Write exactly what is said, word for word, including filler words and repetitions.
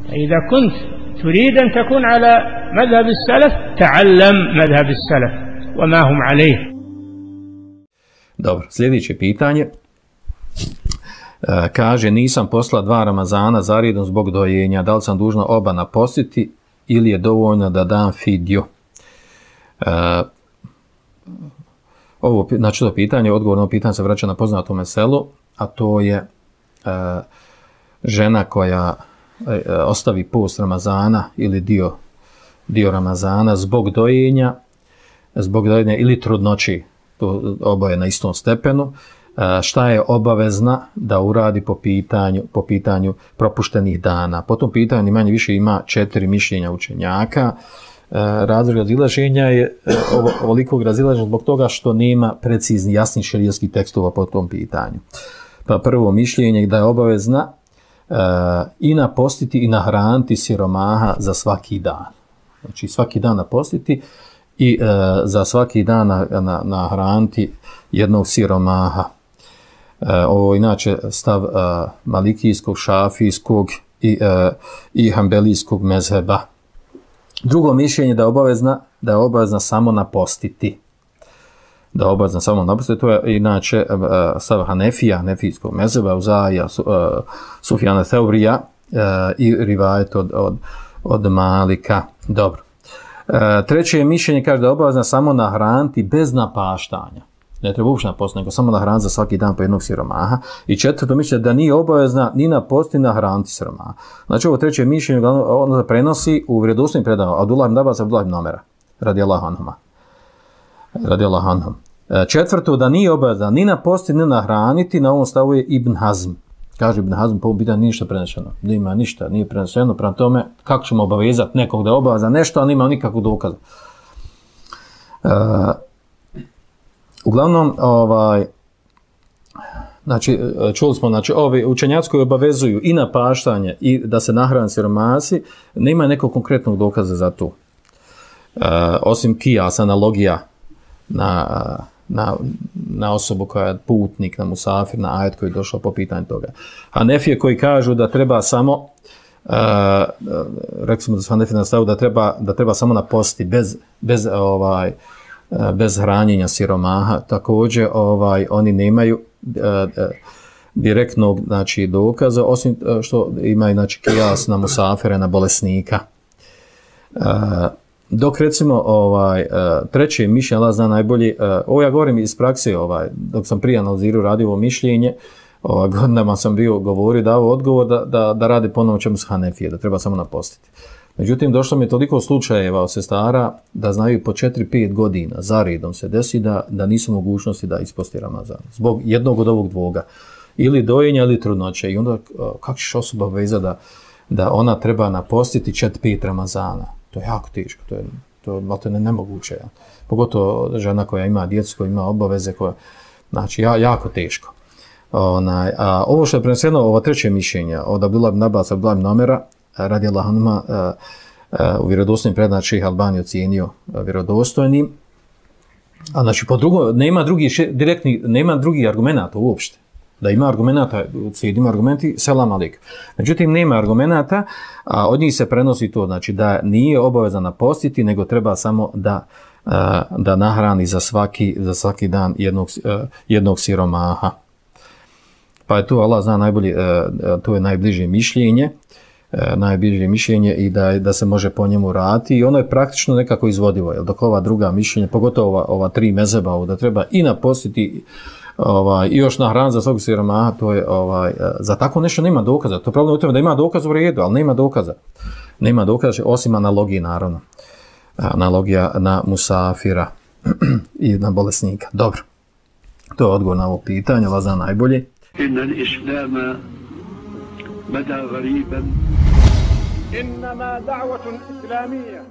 إذا كنت تريد أن تكون على مذهب السلف تعلم مذهب السلف وما هم عليه. Dobro, sljedeće pitanje. E, kaže, nisam posla dva Ramazana zaredom zbog dojenja, da li sam dužna oba napostiti ili je dovoljno da dam fidju? E, ovo, znači to pitanje, odgovorno pitanje se vraća na poznato meselu, a to je e, žena koja e, ostavi post Ramazana ili dio, dio Ramazana zbog dojenja, zbog dojenja ili trudnoći, to oboje na istom stepenu, šta je obavezna da uradi po pitanju, po pitanju propuštenih dana. Po tom pitanju manje više ima četiri mišljenja učenjaka. Razlog razilaženja je ovolikog razilaženja zbog toga što nema precizni, jasnih šerijskih tekstova po tom pitanju. Pa prvo mišljenje da je obavezna i napostiti i nahraniti siromaha za svaki dan. Znači svaki dan napostiti i e, za svaki dan nahraniti na, na jednog siromaha. E, ovo inače stav e, malikijskog, šafijskog i, e, i hambelijskog mezheba. Drugo mišljenje da je obavezna, da je obavezna samo napostiti. Da je obavezna samo napostiti, to je inače e, stav Hanefija, hanefijskog mezheba, Uzaija, su, e, Sufjana Theurija e, i rivajet od, od, od Malika. Dobro. Treće je mišljenje, kaže da je obavezna samo nahraniti bez napaštanja. Ne treba uopšte napostiti, nego samo nahraniti za svaki dan po jednog siromaha. I četvrto mišljenje da nije obavezna ni napostiti ni nahraniti siromaha. Znači ovo treće mišljenje ono se prenosi u vjerodostojnim predajama Abdullah ibn Abbas, Abdullah ibn Omera, radijallahu anhuma. Radijallahu anhum. Četvrto da nije obavezna ni napostiti ni nahraniti, na ovom stavu je Ibn Hazm. Kaže Ibn Hazm, po ovom pitanju nije ništa prenešeno. Nema ništa, nije preneseno. Prema tome, kako ćemo obavezati nekog da obaveza nešto, a nema nikakvog dokaza. Uh, uglavnom, ovaj, znači, čuli smo, znači, ovi učenjaci koji obavezuju i napaštanje i da se nahrane siromasi, nema nekog konkretnog dokaza za to. Uh, osim kijas, analogija na... Na, na osobu koja je putnik, na musafir, na ajet koji je došao po pitanju toga. Hanefije koji kažu da treba samo, uh, rekli smo da su Hanefije nastavu da treba, da treba samo napostiti bez, bez, ovaj, uh, bez hranjenja siromaha. Također ovaj, oni nemaju uh, uh, direktnog znači, dokaza, osim što imaju znači, kijas na musafire, na bolesnika. Uh, Dok recimo ovaj, treće mišljenje, Allah zna najbolje, ovo ja govorim iz prakse, ovaj, dok sam prije analizirao radio ovo mišljenje, ovaj, godinama sam bio govorio, dao odgovor da, da, da radi ponovno čemu s Hanefije, da treba samo napostiti. Međutim, došlo mi je toliko slučajeva od sestara da znaju po četiri pet godina zaredom se desi da, da nisu mogućnosti da isposti Ramazan. Zbog jednog od ovog dvoga. Ili dojenja ili trudnoće. I onda kako ćeš osoba veza da, da ona treba napostiti četiri pet Ramazana? To je jako teško, to je, to je ne, nemoguće. Ja. Pogotovo žena koja ima djecu, koja ima obaveze, koja, znači ja, jako teško. Onaj, a ovo što je preneseno, ovo treće mišljenje od Abdullah ibn Abbas, Abdullah ibn Omera, radijallahu anhuma, u vjerodostojnim predajama Šejh Albani ocijenio vjerodostojnim. A znači po drugo, nema drugi direktni, nema drugih argumenata uopšte. Da ima argumenata, ima argumenti, selam alik. Međutim, nema argumenata, a od njih se prenosi to, znači da nije obavezan napostiti, nego treba samo da, da nahrani za svaki, za svaki dan jednog, jednog siromaha. Pa je to, Allah zna najbolje, to je najbliže mišljenje, najbliže mišljenje i da, da se može po njemu raditi i ono je praktično nekako izvodivo, jer dok ova druga mišljenja, pogotovo ova, ova tri mezheba, da treba i napostiti ovaj, i još nahraniti za svog siromaha, to je, ovaj, za tako nešto nema dokaza. To je problem u tome da ima dokaz u redu, ali nema dokaza. Nema dokaza, osim analogije, naravno. Analogija na musafira i na bolesnika. Dobro. To je odgovor na ovo pitanje, Allah zna najbolje. Inna l-islama bada gariban. Innama da'vatun islamija.